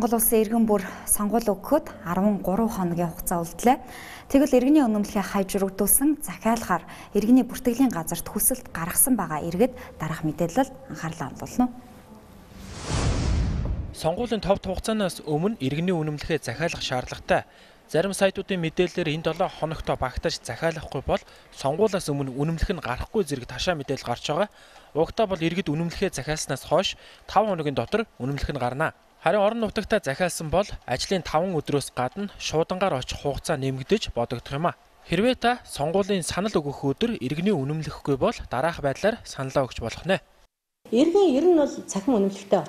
Монгол улсын иргэн бүр сонгуул өгөхөд 13 хоногийн хугацаа үлдлээ. Тэгвэл иргэний үнэмлэхээ хайжрагдуулсан захиалгаар иргэний бүртгэлийн газарт хүсэлт гаргасан байгаа иргэд дараах мэдээлэл анхаарлаа хандуулна. Сонгуулийн товд хугацаанаас өмнө иргэний үнэмлэхээ захиалах шаардлагатай. Зарим сайтуудын мэдээлэлээр энэ 7 хоногтой багтаж захиалахгүй бол сонгуулиас өмнө үнэмлэх нь гарахгүй зэрэг ташаа мэдээлэл гарч байгаа. Угтаа бол иргэд үнэмлэхээ захиалснаас хойш 5 хоногийн дотор үнэмлэх нь гарна. Харин орон нутагтаа захиалсан бол ажлын 5 өдрөөс гадна шуудангаар очих хугацаа нэмэгдэж бодогдох юм а. Хэрвээ та сонгуулийн санал өгөх өдөр иргэний үнэмлэхгүй бол дараах байдлаар саналаа өгч болох нэ. Иргэн ер нь бол цахим үнэмлэхтэй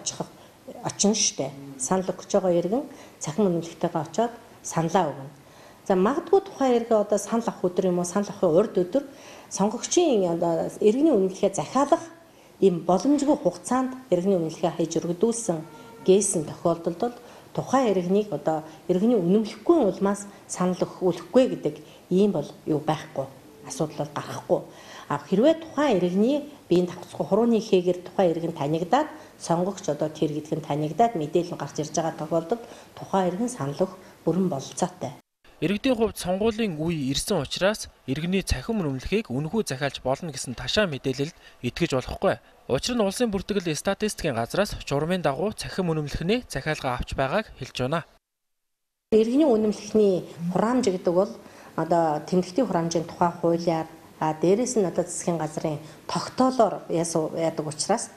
очин штэ. Санал өгч байгаа иргэн цахим үнэмлэхтэйгээ очиод саналаа өгнө. За магадгүй тухайн иргэн одоо санал авах өдөр юм уу, санал авахын урд өдөр сонгогчийн одоо иргэний үнэмлэхээ захиалах ийм боломжгүй хугацаанд иргэний үнэмлэхээ хайж өргөдүүлсэн гээсэн тохиолдолд бол тухайн иргэнийг одоо иргэний үнэмлэхгүй улмаас санал өгөхгүй гэдэг ийм бол юу байхгүй, асуудал гарахгүй. А хэрвээ тухайн иргэний биеийн давхцгүй хурууны хийгээр тухайн иргэн танигдаад сонгогч одоо тэр гэдг нь танигдаад мэдээлэл гарч ирж байгаа тохиолдолд тухайн иргэн санал өгөх бүрэн бололцоотой. Иргэдийн хувьд сонгуулийн үе ирсэн учраас иргэний цахим үнэмлэхийг үнэхүү захиалж болно гэсэн ташаа мэдээлэлд итгэж болохгүй. Учир нь улсын бүртгэл статистикийн газраас журмын дагуу цахим үнэмлэхний захиалга авч байгааг хэлж байна. Иргэний үнэмлэхний хураамж гэдэг бол одоо тэмдэгтийн хураамжийн тухай хуулиар дээрээс нь одоо засгийн газрын тогтоолоор яадаг учраас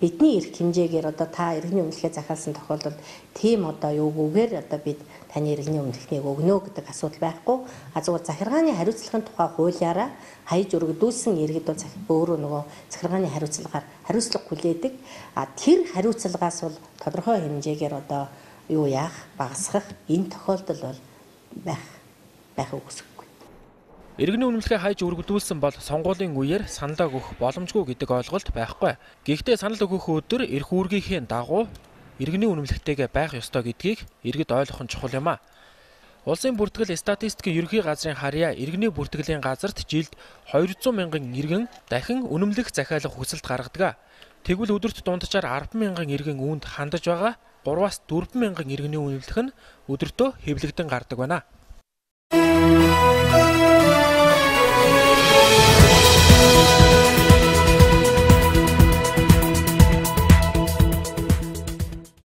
бидний эрх хэмжээгээр одоо та иргэний үнэмлэхээ захиалсан тохиолдолд тийм одоо юугүйгээр одоо бид таны иргэний үнэмлэхнийг өгнө гэдэг асуудал байхгүй. Зүгээр захиргааны хариуцлагын тухай хуулиараа хайж өргөдүүлсэн иргэд бол өөрөө нөгөө захиргааны хариуцлагаар хариуцлага хүлээдэг. Тэр хариуцлагаас бол тодорхой хэмжээгээр одоо юу яах, багасгах энэ тохиолдол бол байх үгүйсэхгүй. Иргэний үнэмлэхээ хайж өргөдүүлсэн бол сонгуулийн үеэр саналаа өгөх боломжгүй гэдэг ойлголт байхгүй. Гэхдээ санал өгөх өдөр эрх үүргийнхээ дагуу иргэний үнэмлэхтэйгээ байх ёстой гэдгийг иргэд ойлгох нь чухал юм а. Улсын бүртгэл статистикийн ерөнхий газрын харьяа иргэний бүртгэлийн газарт жилд 200 мянган иргэн дахин үнэмлэх захиалах хүсэлт гаргадаг. Тэгвэл өдөрт дунджаар 10 мянган иргэн үүнд хандаж байгаа 3-4 мянган иргэний үнэмлэх нь өдөртөө хэвлэгдэн гардаг байна.